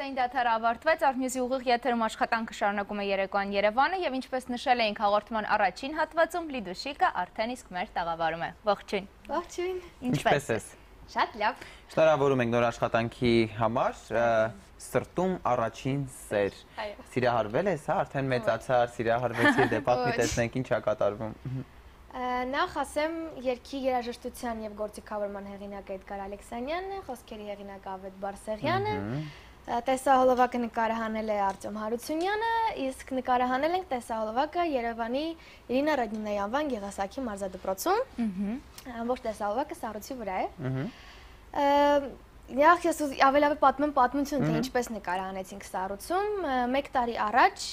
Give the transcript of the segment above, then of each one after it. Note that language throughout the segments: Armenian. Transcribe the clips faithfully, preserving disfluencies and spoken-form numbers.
Երեկոյին դադարը ավարտվեց, Արմյուզի ուղիղ եթերում աշխատանքը շարունակում է Երեկոյան Երևանը և ինչպես նշել էինք հաղորդման առաջին հատվածում, Լիդուշիկը արդեն իսկ մեր տաղավարում է։ Ողջույն։ Ողջույն։ Ինչպես ես։ Շատ լավ։ Շնորհավորում ենք նոր աշխատանքի համար, սրտում առաջին սեր։ Սիրահարվել ես, հա, արդեն մեծացար, սիրահարվեցի, դե պատմի տեսնենք ինչ է կատարվում։ Նախ ասեմ երգի երաժշտության և գործիքավորման հեղինակ Էդգար Ալեքսանյանն է, խոսքերի հեղինակ Ավետ Բարսեղյանը, տեսահոլովակը նկարահանել է Արտյոմ Հարությունյանը, իսկ նկարահանել ենք տեսահոլովակը Երևանի Իրինա Ռադնինայի անվան Գեղասակի մարզադպրոցում, ամբողջ տեսահոլովակը սառույցի վրա է։ Նախ ես ավելավե պատմեմ պատմություն, թե ինչպես նկարահանեցինք սառույցում, մեկ տարի առաջ,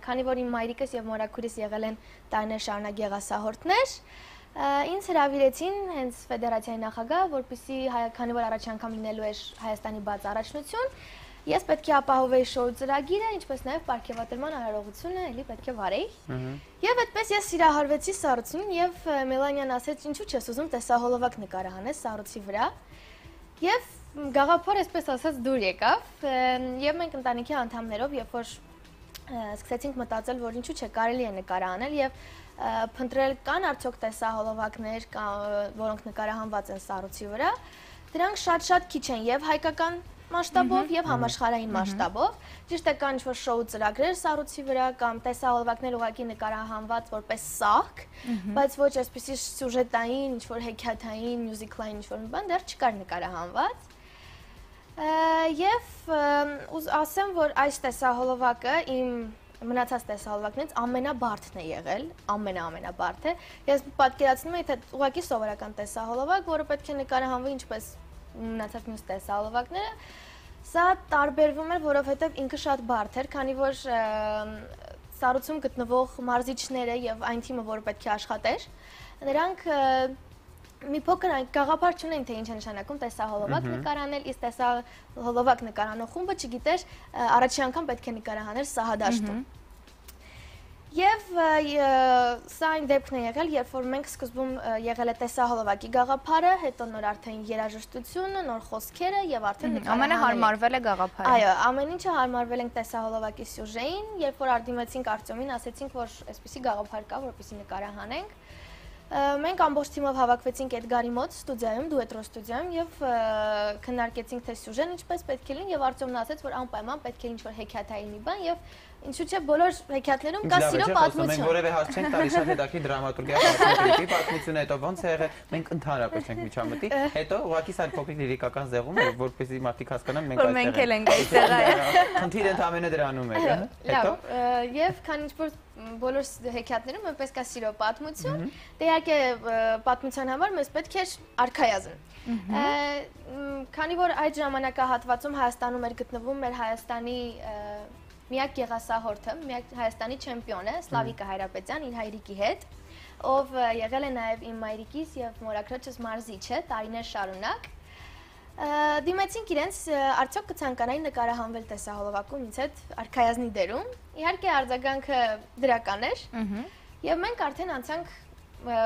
քանի որ իմ մայրիկս և մորաքուրիս եղել են տարիներ շարունակ գեղասահորդներ, ինձ հրավիրեցին հենց ֆեդերացիայի նախագահ, որպեսզի քանի որ առաջ անգամ լինելու էր Հայաստանի բաց առաջնություն, ես պետք է ապահովեի շոու ծրագիրը, ինչպես նաև պարգևատրման արարողությունը էլի պետք է վարեի։ Եվ այդպես ես սիրահարվեցի սառույցին և Մելանյան ասեց, ինչու չես ուզում տեսահոլովակ նկարահանես սառույցի վրա։ Եվ գաղափարը այսպես ասած դուր եկավ և մենք ընտանիքի անդամներով, երբ որ սկսեցինք մտածել, որ ինչու չէ կարելի է նկարահանել և փնտրել կան արդյոք տեսահոլովակներ, որոնք նկարահանված են սառույցի վրա, դրանք շատ-շատ քիչ են և հայկական մասշտաբով և համաշխարհային մասշտաբով, ճիշտ է կան ինչ-որ շոու ծրագրեր սառույցի վրա կամ տեսահոլովակներ ուղղակի նկարահանված որպես սահք, բայց ոչ այսպիսի սյուժետային, ինչ-որ հեքիաթային, մյուզիկլային ինչ-որ մի բան դեռ չկար նկարահանված։ Եվ ասեմ, որ այս տեսահոլովակը իմ մնացած տեսահոլովակներից ամենաբարդն է եղել, ամենա-ամենաբարդ է։ Ես պատկերացնում եմ, թե ուղղակի սովորական տեսահոլովակ, որը պետք է նկարահանվի ինչպես մնացած մյուս տեսահոլովակները, սա տարբերվում էր, որովհետև ինքը շատ բարդ էր, քանի որ սառույցում գտնվող մարզիչները և այն թիմը, որը պետք է աշխատեր, նրանք մի փոքր գաղափար չունեն, թե ինչ է նշանակում տեսահոլովակ նկարահանել, իսկ տեսահոլովակ նկարահանող խումբը չգիտեր առաջին անգամ պետք է նկարահանել սահադաշտում։ Եվ սա այն դեպքն է եղել, երբ որ մենք սկզբում եղել է տեսահոլովակի գաղափարը, հետո նոր արդեն երաժշտությունը, նոր խոսքերը եւ արդեն ամենը հարմարվել է գաղափարը։ Այո, ամեն ինչը հարմարվել ենք տեսահոլովակի սյուժեին, երբ որ արդիմեցինք Արտյոմին, ասեցինք, որ այսպեսի գաղափար կա, որպեսզի նկարահանենք։ Մենք ամբողջ թիմով հավաքվեցինք Էդգարի մոտ ստուդիայում, դուետրո ստուդիայում եւ քննարկեցինք թե սյուժեն ինչպես պետք է լինի եւ Արտյոմն ասաց, որ անպայման պետք է ինչ-որ հեքիաթային մի բան եւ ինչու՞ չէ բոլոր հեքիաթներում կա սիրո պատմություն։ Մենք որևէ հարց չենք տալի, շատ հետաքրքիր դրամատուրգիա պատմությունը, հետո ոնց է եղել, մենք ընդհանրապես չենք միջամտի, հետո ուղղակի սա փոքրիկ լիրիկական զեղում է, որպեսզի մարդիկ հասկանան մենք այստեղ ենք։ Խնդիրը ընդամենը դրանում է, հետո եւ քան ինչ-որ բոլոր հեքիաթներում այնպես կա սիրո պատմություն, դե իհարկե պատմության համար մեզ պետք էր արքայազն։ Քանի որ այդ ժամանակահատվածում Հայաստանում էր գտնվում մեր Հայաստանի միակ գեղասահորդը, միակ Հայաստանի չեմպիոնը Սլավիկա Հայրապետյան իր հայրիկի հետ, ով եղել է նաև իմ մայրիկիս եւ մորաքրոջս մարզիչը տարիներ շարունակ, դիմեցինք իրենց արդյոք կցանկանային նկարահանվել տեսահոլովակում ինձ հետ արքայազնի դերում, իհարկե արձագանքը դրական էր եւ մենք արդեն անցանք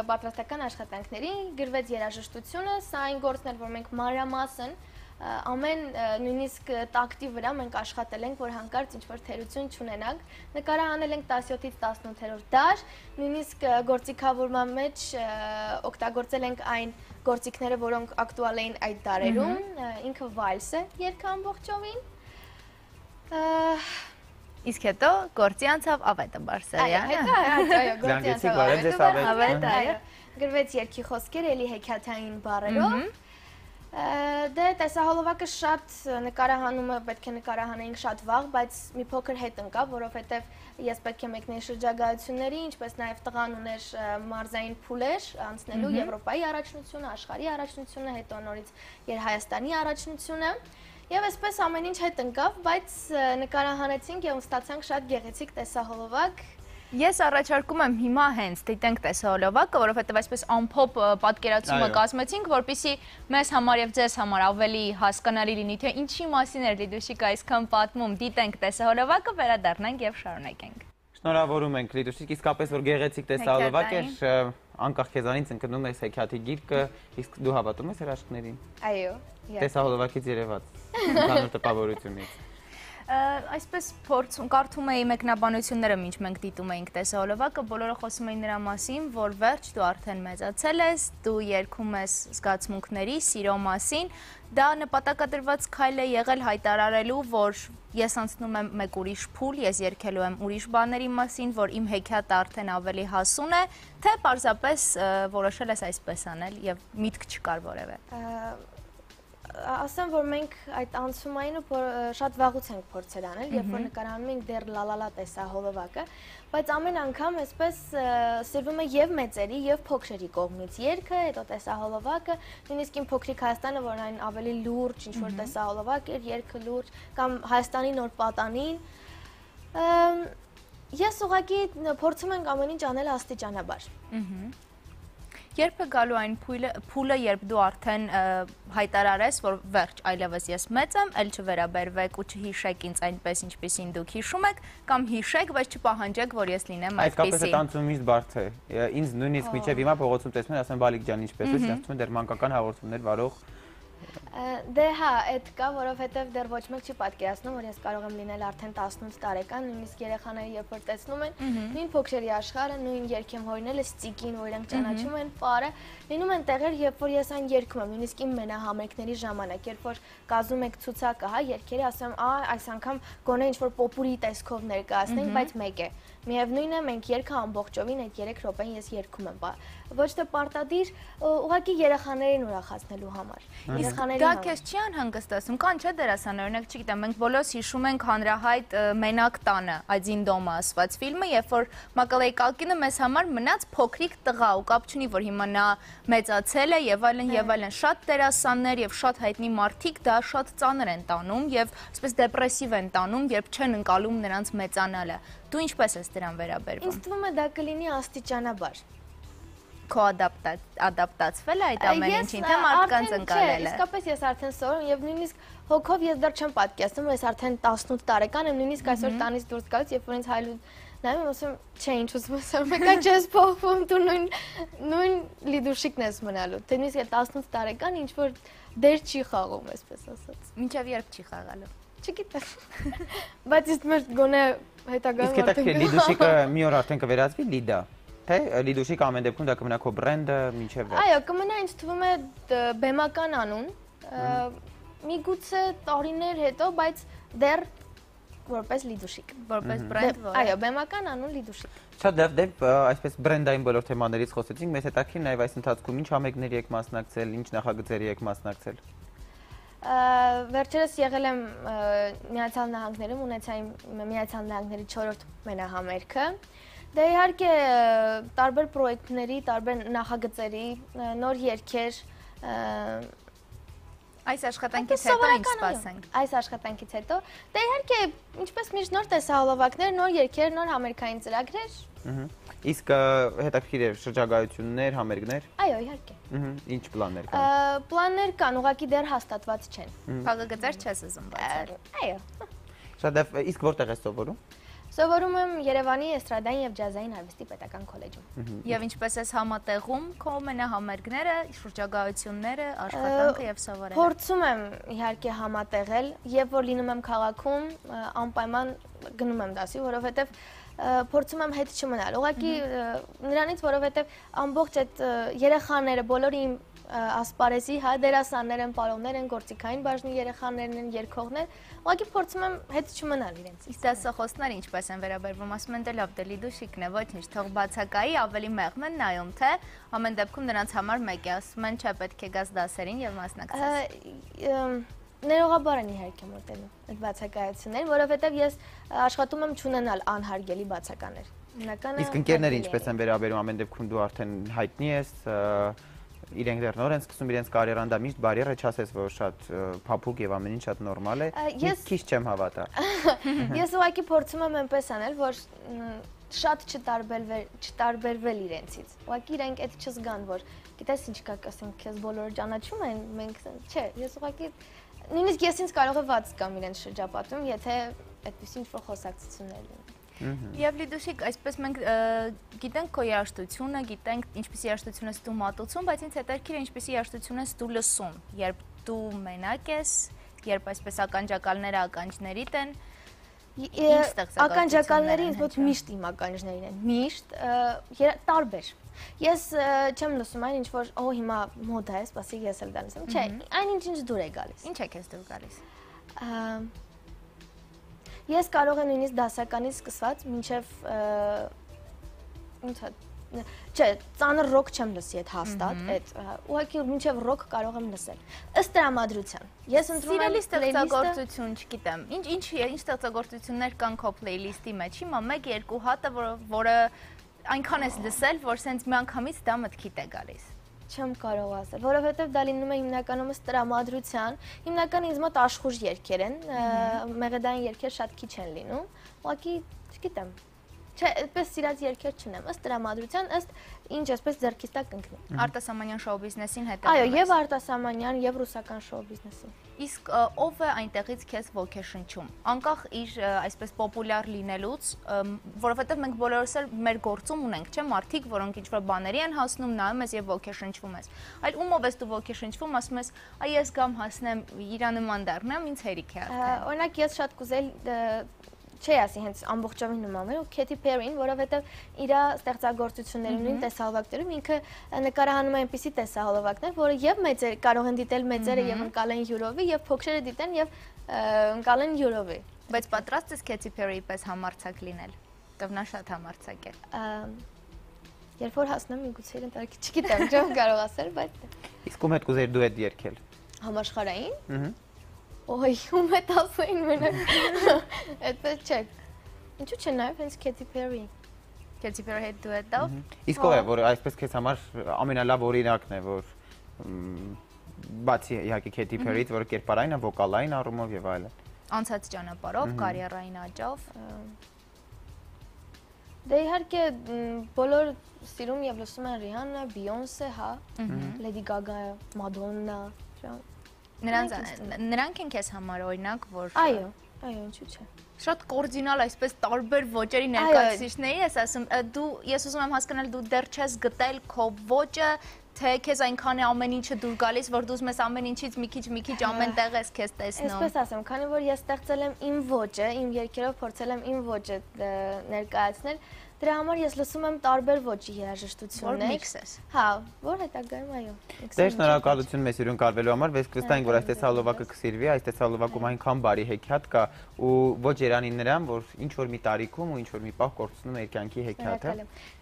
պատրաստական աշխատանքների, գրվեց երաժշտությունը, սա այն գործն էր, որ մենք մանրամասն ամեն նույնիսկ տակտի վրա մենք աշխատել ենք, որ հանկարծ ինչ-որ թերություն չունենանք, նկարահանել ենք տասնյոթից տասնութերորդ դար, նույնիսկ գործիքավորման մեջ օգտագործել ենք այն գործիքները, որոնք ակտուալ էին այդ դարերում, ինքը վալս է երգը ամբողջովին։ Իսկ հետո գործի անցավ Ավետը Բարսեղյանը։ Այո, գործի անցավ Ավետը, գրվեց երգի խոսքերը էլի հեքիաթային բառերով։ Դե տեսահոլովակը շատ նկարահանումը պետք է նկարահանեինք շատ վաղ, բայց մի փոքր հետ ընկավ, որովհետև ես պետք է մեկնեի շրջագայությունների, ինչպես նաև տղան ուներ մարզային փուլեր անցնելու Եվրոպայի առաջնությունը, աշխարհի առաջնությունը, հետո նորից Հայաստանի առաջնությունը։ Եվ այսպես ամեն ինչ հետ ընկավ, բայց նկարահանեցինք եւ ստացանք շատ գեղեցիկ տեսահոլովակ։ Ես առաջարկում եմ հիմա հենց դիտենք տեսահոլովակը, որովհետև այսպես ամփոփ պատկերացումը կազմեցինք, որպեսզի մեզ համար եւ ձեզ համար ավելի հասկանալի լինի, թե ինչի մասին էր Լիդուշիկը այսքան պատմում, դիտենք տեսահոլովակը, վերադառնանք եւ շարունակենք։ Շնորհավորում ենք Լիդուշիկ, իսկապես որ գեղեցիկ տեսահոլովակ էր, անկախ քեզանից ընկնում ես հեքիաթի գիրկը, իսկ դու հավատում ես հրաշքներին։ Այո, տեսահոլովակից երևաց, ընդհանուր տպավորությունից։ Այսպես փորձում կարդում էի մեկնաբանությունները, ինչ մենք դիտում էինք տեսահոլովակը, բոլորը խոսում էին նրա մասին, որ վերջ դու արդեն մեծացել ես, դու երգում ես զգացմունքների, սիրո մասին, դա նպատակադրված քայլ է եղել հայտարարելու, որ ես անցնում եմ մեկ ուրիշ փուլ, ես երգելու եմ ուրիշ բաների մասին, որ իմ հեքիաթը արդեն ավելի հասուն է, թե պարզապես որոշել ես այսպես անել եւ միտք չկար որևէ։ Ասեմ, որ մենք այդ անցումային շատ վաղուց ենք փորձել անել, երբ որ նկարահանում ենք դեռ լալալա տեսահոլովակը, բայց ամեն անգամ այսպես սիրվում է եւ մեծերի եւ փոքրերի կողմից երգը, հետո տեսահոլովակը, նույնիսկ իմ փոքրիկ Հայաստանը, որ այն ավելի լուրջ ինչ-որ տեսահոլովակ էր, երգը լուրջ, կամ Հայաստանի նոր պատանին։ Ես ուղղակի փորձում ենք ամեն ինչ անել աստիճանաբար։ Երբ է գալու այն փուլը, երբ դու արդեն հայտարարես, որ վերջ, այլևս ես մեծ եմ, էլ չվերաբերվեք ու չհիշեք ինձ այնպես, ինչպեսին դուք հիշում եք, կամ հիշեք, բայց չպահանջեք, որ ես լինեմ այսպեսի։ Այդքապես այդ անցումից բարդ է։ Ինձ նույնիսկ մինչև հիմա փողոցում տեսնում են, ասում են Բալիկ ջան, ինչպես ես, ասում են դեռ մանկական հաղորդումներ վարող։ Դե հա, այդ կա, որովհետև դեռ ոչ մեկ չի պատկերացնում, որ ես կարող եմ լինել արդեն տասնութ տարեկան, նույնիսկ երեխաները երբ որ տեսնում են, նույն փոքրերի աշխարհը, նույն երգեմ հորինել է ստիկին, որ իրենք ճանաչում են պարը, լինում են տեղեր, երբ որ ես այն երգում եմ, նույնիսկ իմ մենահամերգների ժամանակ, երբ որ կազմում եք ցուցակը, հա, երգերի, ասում եմ, «Ա, այս անգամ գոնե ինչ-որ պոպուրի տեսքով ներկայացնենք, բայց մեկ է»։ Միևնույն է, մենք երգը ամբողջովին այդ երեք րոպեն ես երգում եմ, ոչ թե պարտադիր, ուղղակի երեխաներին ուրախացնելու համար։ Դա քեզ չի անհանգստացնում, կան չէ դերասան, օրինակ, չգիտեմ, մենք բոլորս հիշում ենք հանրահայտ Մենակ տանը, Один дома ասված ֆիլմը, երբ որ Մակալեյ Կալկինը մեզ համար մնաց փոքրիկ տղա ու կապ չունի, որ հիմա նա մեծացել է եւ այլն եւ այլն, շատ դերասաններ եւ շատ հայտնի մարդիկ դա շատ ծանր են տանում եւ այսպես դեպրեսիվ են տանում, երբ չեն ընկալում նրանց մեծանալը։ Դու ինչպես ես դրան վերաբերվում։ Ինձ թվում է դա կլինի աստիճանաբար։ Քո ադապտացվել է այդ ամեն ինչին, թե մարդկանց ընկալել է։ Իսկապես ես արդեն սովորում եւ նույնիսկ հոգով ես դեռ չեմ պատկերացնում, որ ես արդեն տասնութ տարեկան եմ, նույնիսկ այսօր տանից դուրս գալուց, երբ որ ինձ հայլու նայում եմ, ասում չէ, ինչ ուզում եմ, մեկա չես փոխվում, դու նույն նույն լիդուշիկն ես մնալու։ Թե նույնիսկ այդ տասնութ տարեկան ինչ որ դեր չի խաղում, այսպես ասած։ Մինչև երբ չի խաղալու։ Չգիտեմ։ Բայց իսկ մեր գոնե հետագայում արդեն։ Իսկ դա լիդուշիկը մի օր արդեն կվերածվի լիդա։ Թե լիդուշիկ ամեն դեպքում դա կմնա քո բրենդը մինչև վերջ։ Այո, կմնա, ինձ թվում է բեմական անուն, միգուցե տարիներ հետո, բայց դեռ որպես լիդուշիկ, որպես բրենդ, որ այո, բեմական անուն լիդուշիկ։ Շատ լավ, դե այսպես բրենդային բոլոր թեմաներից խոսեցինք, մեզ հետաքրքիր նաև այս ընթացքում ինչ համերգների եք մասնակցել, ինչ նախագծերի եք մասնակցել։ Վերջերս եղել եմ Միացյալ Նահանգներում, ունեցա իմ Միացյալ Նահանգների չորրորդ մենահամերգը։ Դե իհարկե տարբեր պրոյեկտների, տարբեր նախագծերի, նոր երգեր, այս աշխատանքից հետո ինչ սպասենք։ Այս աշխատանքից հետո, դե իհարկե ինչպես միշտ նոր տեսահոլովակներ, նոր երգեր, նոր համերգային ծրագրեր։ Իսկ հետաքրքիր է շրջագայություններ, համերգներ։ Այո, իհարկե։ Ինչ պլաններ կան։ Պլաններ կան, ուղղակի դեռ հաստատված չեն։ Փակագծեր չես ուզում բացել։ Այո։ Շատ լավ, իսկ որտեղ ես սովորում։ Սովորում եմ Երևանի էստրադային եւ ջազային արվեստի պետական քոլեջում։ Եվ ինչպես ես համատեղում քո մենահամերգները, շրջագայությունները, աշխատանքը եւ սովորելը։ Փորձում եմ իհարկե համատեղել, եւ որ լինում եմ քաղաքում, անպայման գնում եմ դասի, որովհետեւ փորձում եմ հետ չմնալ։ Ուղղակի նրանից, որովհետեւ ամբողջ այդ երեխաները, բոլորի իմ ասպարեզի, հա, դերասաններ են, պարոններ են, գործիքային բաժնի երեխաներն են, երգողներ, ուղղակի փորձում եմ հետ չմնալ իրենց։ Իսկ դասախոսները ինչպես են վերաբերվում, ասում են դե լավ, դե լիդուշիկն է, ոչինչ, թող բացակայի, ավելի մեղմ են նայում, թե ամեն դեպքում նրանց համար մեկ է, ասում են չէ, պետք է գաս դասերին եւ մասնակցես։ Ներողաբար են իհարկե մոտենում այդ բացակայություններին, որովհետեւ ես աշխատում եմ չունենալ անհարգելի բացականեր։ Իսկ ընկերները ինչպես են վերաբերում, ամեն դեպքում դու արդեն հայտնի ես, իրենք դեռ նոր են սկսում իրենց կարիերան, դա միշտ բարիեր է, չասես, որ շատ փափուկ եւ ամեն ինչ շատ նորմալ է։ Ես քիչ չեմ հավատա։ Ես ուղղակի փորձում եմ այնպես անել, որ շատ չտարբերվել իրենցից։ Ուղղակի իրենք այդ չզգան, որ գիտես ինչ կա, ասենք, քեզ բոլորը ճանաչում են, մենք չէ, ես ուղղակի նույնիսկ ես ինձ կարող է վատ զգամ իրենց շրջապատում, եթե այդպես ինչ-որ խոսակցություններ լինեն։ Եվ լիդուշիկ, այսպես մենք գիտենք քո երաժշտությունը, գիտենք ինչպիսի երաժշտություն ես դու մատուցում, բայց ինձ հետաքրքիր է ինչպիսի երաժշտություն ես դու լսում, երբ դու մենակ ես, երբ այսպես ականջակալները ականջներիդ են, ականջակալները ինձ մոտ միշտ իմ ականջներին են, միշտ տարբեր։ Ես չեմ լսում այն ինչ որ օ հիմա մոդա է, սպասի ես էլ դա լսեմ։ Չէ, այն ինչ ինչ դուր է գալիս։ Ինչ է քեզ դուր գալիս։ Ես կարող եմ նույնիսկ դասականից սկսված մինչև ոնց է Չէ, ծանր ռոք չեմ լսի այդ հաստատ, այդ ուղղակի մինչև ռոք կարող եմ լսել։ Ըստ տրամադրության։ Ես ընտրում եմ ստեղծագործություն, չգիտեմ։ Ինչ ինչ ինչ ստեղծագործություններ կան քո playlist-ի մեջ։ Հիմա մեկ երկու հատը, որը այնքան ես լսել, որ սենց միանգամից դա մտքիդ է գալիս։ Չեմ կարող ասել, որովհետև դա լինում է հիմնականում ըստ տրամադրության։ Հիմնականում ինձ մոտ աշխուժ երգեր են, մեղեդային երգեր շատ քիչ են լինում։ Ուղղակի, չգիտեմ։ Չէ, այդպես սիրած երգեր չունեմ, ըստ տրամադրության, ըստ ինչ այսպես ձեռքից տակ կընկնի։ Արտասահմանյան շոու բիզնեսին հետևում ես։ Այո, եւ արտասահմանյան, եւ ռուսական շոու բիզնեսին։ Իսկ ով է այնտեղից քեզ ոգեշնչում։ Անկախ իր այսպես պոպուլյար լինելուց, որովհետեւ մենք բոլորս էլ մեր գործում ունենք, չէ՞, մարդիկ, որոնք ինչ-որ բաների են հասնում, նայում ես եւ ոգեշնչվում ես։ Այլ ումով ես դու ոգեշնչվում, ասում ես, այ ես գամ հասնեմ իրա նման դառնամ, ինձ հերիք է արդեն։ Օրինակ ես շատ կուզել Չի ասի հենց ամբողջովին նման ու Քեթի Փերին, որովհետև իր ստեղծագործություններում նույն տեսահոլովակներում ինքը նկարահանում է այնպիսի տեսահոլովակներ, որը եւ մեծեր կարող են դիտել մեծերը եւ ընկալեն յուրովի եւ փոքրերը դիտեն եւ ընկալեն յուրովի։ Բայց պատրաստ ես Քեթի Փերիի պես համարձակ լինել։ Դեռ նա շատ համարձակ է։ Երբ որ հասնեմ միգուցե ընտարքի, չգիտեմ, չեմ կարող ասել, բայց Իսկ ում հետ կուզեիր դուետ երգել։ Համաշխարհային։ Ահա Օй, ում է տասային մենակ, այդպես չէ, ինչու չէ նաև հենց Քեթի Փերի։ Քեթի Փերի հետ դուետով։ Իսկ ով է, որ այսպես քեզ համար ամենալավ օրինակն է, որ բացի իհարկե Քեթի Փերից, որ կերպարային է, վոկալային առումով եւ այլն։ Անցած ճանապարհով, կարիերային աճով։ Դե իհարկե բոլոր սիրում եւ լսում են Ռիհաննա, Բիյոնսե, հա, Լեդի Գագա, Մադոննա, Նրանք են քեզ համար օրինակ, որ Այո, այո, ինչու՞ չէ։ Շատ կորդինալ այսպես տարբեր ոճերի ներկայացուցիչների ես ասում, դու ես ուզում եմ հասկանալ դու դեռ չես գտել քո ոճը, թե քեզ այնքան է ամեն ինչը դուր գալիս, որ դու ուզում ես ամեն ինչից մի քիչ մի քիչ ամեն տեղ ես քեզ տեսնում։ Այսպես ասեմ, քանի որ ես ստեղծել եմ իմ ոճը, իմ երգերով փորձել եմ իմ ոճը ներկայացնել, դրա համար ես լսում եմ տարբեր ոճի երաժշտություններ։ Որ միքս ես։ Հա, որ հետագայում այո։ Դե շնորհակալություն մեզ հյուրին կարվելու համար, բայց կվստահենք, որ այս տեսահոլովակը կսիրվի, այս տեսահոլովակում այնքան բարի հեքիաթ կա ու ոչ երանի նրան, որ ինչ որ մի տարիքում ու ինչ որ մի պահ կորցնում է իր կյանքի հեքիաթը։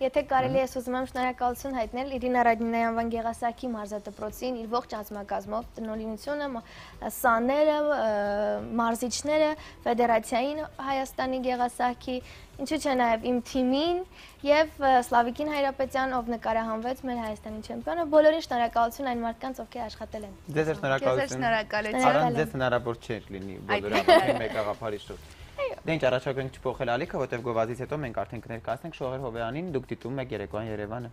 Եթե կարելի է ուզում եմ շնորհակալություն հայտնել Իրինա Ռադինայանվան Գեղասարքի մարզադպրոցին, իր ողջ անձնակազմով, տնօրինությունը, սաները, մարզիչները, ֆեդերացիային Հայաստանի Գեղասարքի, ինչու՞ չէ նաև իմ թիմին եւ Սլավիկին Հայրապետյան, ով նկարահանվեց մեր Հայաստանի չեմպիոնը, բոլորին շնորհակալություն այն մարդկանց, ովքեր աշխատել են։ Ձեզ շնորհակալություն։ Առանց ձեզ հնարավոր չէր լինի բոլորը մեկ աղափարի շուրջ։ Դե ինչ առաջարկենք չփոխել ալիքը, որտեղ գովազից հետո մենք արդեն կներկայացնենք Շողեր Հովեյանին, դուք դիտում եք Երեկոյան Երևանը։